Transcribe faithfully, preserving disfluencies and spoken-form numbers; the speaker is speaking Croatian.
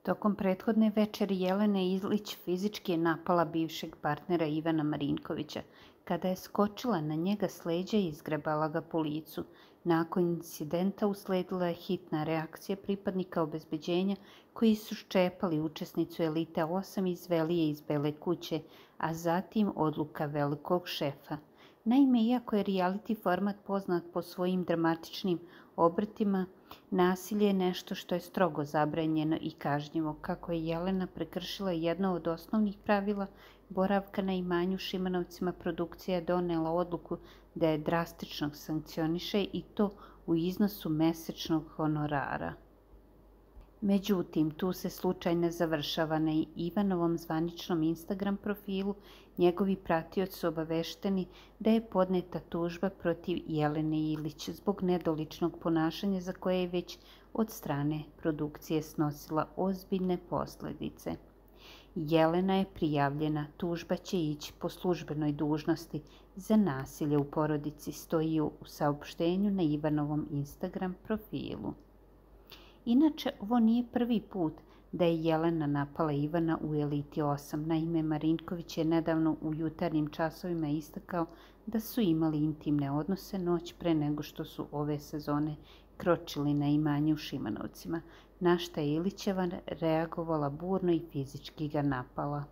Tokom prethodne večeri Jelena Ilić fizički je napala bivšeg partnera Ivana Marinkovića. Kada je skočila na njega s leđa i izgrebala ga po licu. Nakon incidenta usledila je hitna reakcija pripadnika obezbeđenja koji su ščepali učesnicu Elite osam i izveli je iz Bele kuće, a zatim odluka velikog šefa. Naime, iako je reality format poznat po svojim dramatičnim obrtima, nasilje je nešto što je strogo zabranjeno i kažnjivo. Kako je Jelena prekršila jedno od osnovnih pravila boravka na imanju Šimanovcima, produkcija je donela odluku da je drastično sankcioniše i to u iznosu mesečnog honorara. Međutim, tu se slučaj ne završava. Na Ivanovom zvaničnom Instagram profilu njegovi pratioci su obavešteni da je podneta tužba protiv Jelene Ilić zbog nedoličnog ponašanja za koje je već od strane produkcije snosila ozbiljne posljedice. Jelena je prijavljena, tužba će ići po službenoj dužnosti za nasilje u porodici, stoji u saopštenju na Ivanovom Instagram profilu. Inače, ovo nije prvi put da je Jelena napala Ivana u Eliti osam. Naime, Marinković je nedavno u jutarnjim časovima istakao da su imali intimne odnose noć pre nego što su ove sezone kročili na imanje u Šimanovcima, na šta je Ilićeva reagovala burno i fizički ga napala.